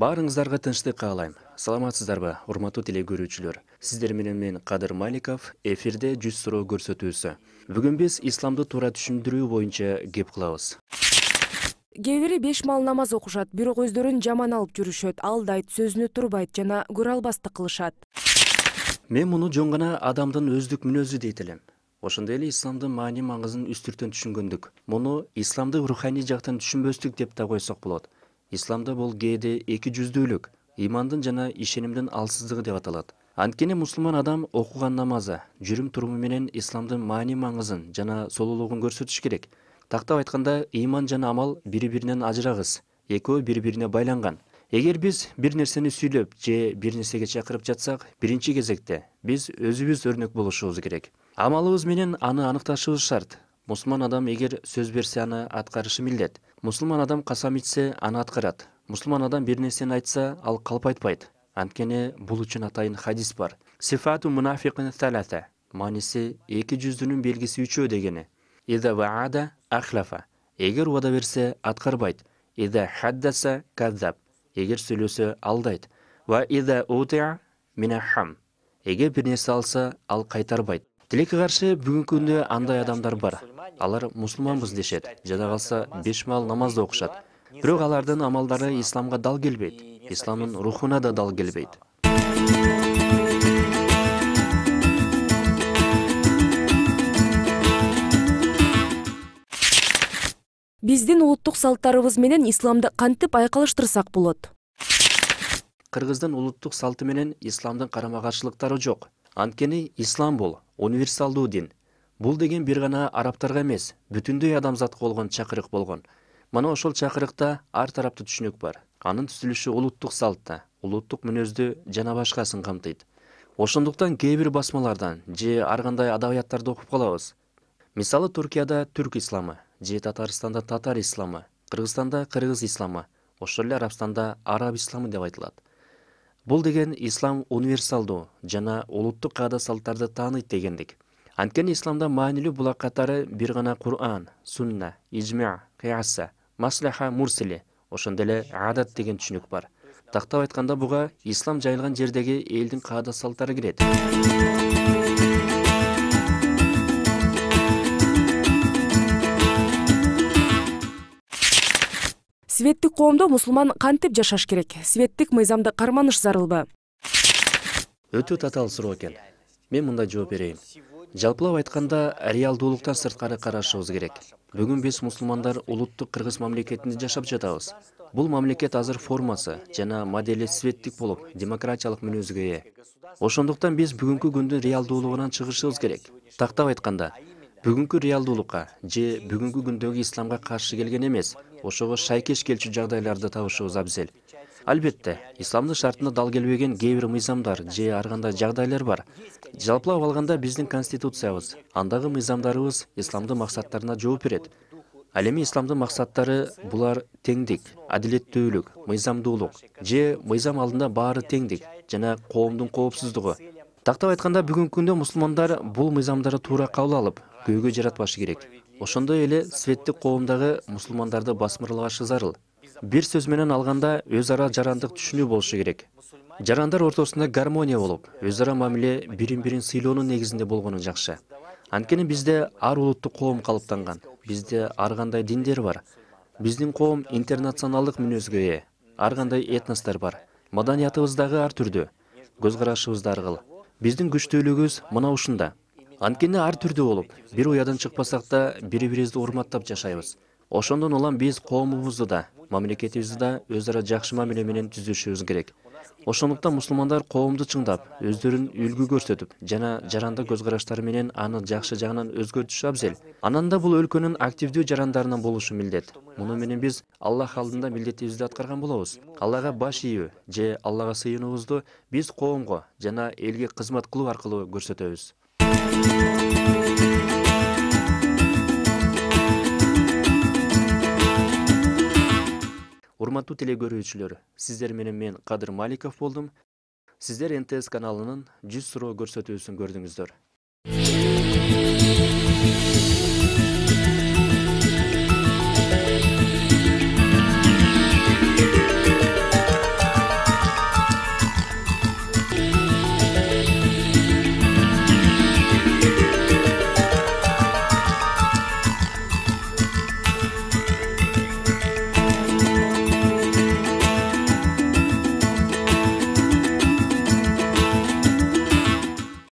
Баарыңыздарга тынчтык каалайм. Саламатсыздарбы, урматтуу теле көрүүчүлөр. Сиздер менен мен Кадыр Маликов, эфирде 100 суроо көрсөтүүсү. Бүгүн биз исламды туура түшүндүрүү боюнча кеп кылабыз. Кээ бири 5 маал намаз окушат, бирок өздөрүн жаман алып жүрүшөт, алдайт, сөзүнө турбайт жана көрө албастык кылышат. Мен муну жөн гана адамдын өздүк мүнөзү дейт элем. Ошондой эле исламдын маани маңызын үстүртөн түшүнгөндүк. Муну исламды руханий жактан түшүнбөстүк деп да койсок болот. Исламда бул кээде эки жүздүүлүк, имандын жана ишенимдин алсыздыгы деп аталат. Анткени мусулман адам окуган намазы, жүрүм туруму менен исламдын маани маңызын жана солулугун көрсөтүш керек. Тактап айтканда, иман жана амал бири-биринен ажырагыс, экөө бири-бирине байланган. Эгер биз бир нерсени сүйлөп же бир нерсеге чакырып жатсак, биринчи кезекте биз өзүбүз өрнөк болушубуз керек. Амалыбыз менен аны аныкташыбыз шарт. Мусулман адам эгер сөз берсе аны аткарышы милдет. Мусулман адам касам ичсе аны аткарат. Мусулман адам бир нерсени айтса, ал калп айтпайт. Анткени бул үчүн атайын хадис бар. Сифату мунафикин талата. Мааниси эки жүздүүнүн белгиси үчөө дегени. Ида ваада ахлафа. Эгер убада берсе аткарбайт. Ида хаддаса каззаб. Эгер сүйлөсө алдайт. Ва ида утиа минахам. Эгер бир нерсе алса, ал кайтарбайт. Тилекке каршы бүгүнкү күндө андай адамдар бар. Алар мусулманбыз дешет, жада калса 5 маал намазды окушат. Бирок алардын амалдары исламга дал келбейт. Исламдын рухуна да дал келбейт. Биздин улуттук салттарыбыз менен исламды кантип айкалыштырсак болот? Кыргыздын улуттук салты менен исламдын карама-каршылыктары жок. Анткени ислам бул универсалдуу дин. Бул деген бир гана арабтарга эмес, бүтүндөй адамзатка болгон чакырык болгон. Мына ошол чакырыкта ар тараптуу түшүнүк бар. Анын түзүлүшү улуттук салтта, улуттук мүнөздү жана башкасын камтыйт. Ошондуктан кээ бир басмалардан же ар кандай адабияттарды окуп калабыз. Мисалы Туркияда түрк исламы, же Татарстанда татар исламы, Кыргызстанда кыргыз исламы, ошол эле Арабстанда араб исламы деп айтылат. Бул деген ислам универсалдуу жана улуттук каада салттарды тааныйт дегендик. Анткени исламда маанилүү булак катары бир гана Кур'ан, сунна, ижма, кыяса, маслаха, мурсили, ошондой эле адат деген түшүнүк бар. Тактап айтканда буга ислам жайылган жердеги элдин каада салттары кирет. Светтик коомдо мусулман кантип жашаш керек? Светтик мыйзамды карманыш зарылбы? Өтө татаал суроо экен. Мен мындай жооп берейин. Жалпылап айтканда, реалдуулуктан сырткары карашыбыз керек. Бүгүн биз мусулмандар улуттук кыргыз мамлекетинде жашап жатабыз. Бул мамлекет азыр формасы жана модели светтик болуп, демократиялык мүнөзгө ээ. Ошондуктан биз бүгүнкү күндүн реалдуулугунан чыгышыбыз керек. Тактап айтканда, бүгүнкү реалдуулукка же бүгүнкү күндөгү исламга каршы келген эмес, ошого шайкеш келчү жагдайларды табышыбыз абзел. Албетте, исламдын шартына дал келбеген кээ бир мыйзамдар же ар кандай жагдайлар бар. Жалпылап алганда биздин конституциябыз, андагы мыйзамдарыбыз исламдын максаттарына жооп берет. Ал эми исламдын максаттары булар теңдик, адилеттүүлүк, мыйзамдуулук же мыйзам алдында баары теңдик жана коомдун коопсуздугу. Тактап айтканда, бүгүнкү күндө мусулмандар бул мыйзамдарды туура кабыл алып, көйгөй жаратпашы керек. Ошондой эле светтик коомдагы мусулмандарды басмырлабашы зарыл. Бир сөз менен алганда, өз ара жарандык түшүнүү болушу керек. Жарандар ортосунда гармония болуп, өз ара мамиле бирин-бирин сыйлоонун негизинде болгону жакшы. Анткени бизде ар улуттук коом калыптанган. Бизде ар кандай диндер бар. Биздин коом интернационалдык мүнөзгө ээ. Ар кандай этностор бар. Маданиятыбыз дагы ар түрдүү. Көз карашыбыз да ар кыл. Биздин күчтүүлүгүбүз мына ушунда. Анткени ар түрдүү болуп, бир уядан чыкпасак да бири-бирибизди урматтап жашайбыз. Ошондон улам биз коомубузду да, мамлекетибизди да өз ара жакшы мамиле менен түзүшүбүз керек. Ошондуктан мусулмандар коомду чыңдап, өздөрүн үлгү көрсөтүп жана жарандык көз караштары менен аны жакшы жагынан өзгөртүшү абзел. Анан да бул өлкөнүн активдүү жарандарынан болушу милдет. Муну менен биз Аллах алдында милдетибизди аткарган болобуз. Аллага баш ийүү же Аллага сыйынуубузду биз коомго жана элге кызмат кылуу аркылуу көрсөтөбүз. Урматтуу теле көрүүчүлөр, сиздер менен мен Кадыр Маликов болдум. Сиздер НТС каналынын 100 суроо көрсөтүүсүн көрдүңүздөр.